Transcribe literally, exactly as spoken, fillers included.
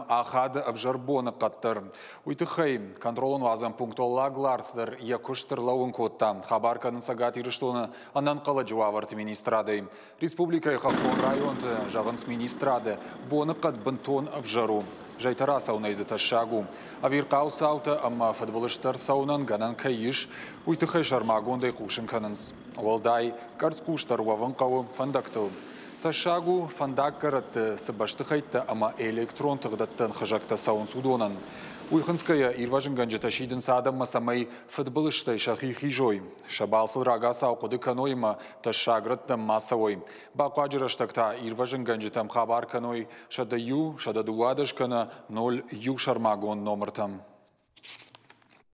Ахады ӕвзӕр боныхъӕд дӕр. Уый тыххӕй контролон уадзӕн пункт Уӕллаг Ларс дӕр йӕ куыст ӕрлӕууын кодта. Хабар кӕны Цӕгат Ирыстоны ӕнӕнхъӕлӕджы уавӕрты министрадӕй. Республикӕйы хӕххон районты, зӕгъынц министрады, боныхъӕд бынтон ӕвзӕр у. Зӕйтӕ рацӕуынӕй дзы тӕссаг у. Ӕвирхъау цаутӕ ӕмӕ фыдбылызтӕ ӕрцӕуынӕн гӕнӕн кӕй ис, уый тыххӕй сӕрмагондӕй хъусын кӕнынц. Уӕлдай къӕрцхъусдӕр уӕвын хъӕуы фӕндӕгтыл. Тӕссаг у, фӕндаггӕрӕтты цы бӕстыхӕйттӕ ӕмӕ электрон тыгъдӕттӕн хызӕгтӕ цӕуынц, уыдонӕн. Уый хынцгӕйӕ ирвӕзынгӕнджытӕ сидынц адӕммӕ, цӕмӕй фыдбылызтӕй сӕхи хизой, сӕ балцыл рагацау хъуыды кӕной ӕмӕ тӕссаг рӕттӕм ма цӕуой. Бахъуаджы рӕстӕг та ирвӕзынгӕнджытӕм хабар кӕной сӕдӕ иу, сӕдӕ дыууадӕс кӕнӕ ноль иу сӕрмагонд номыртӕм.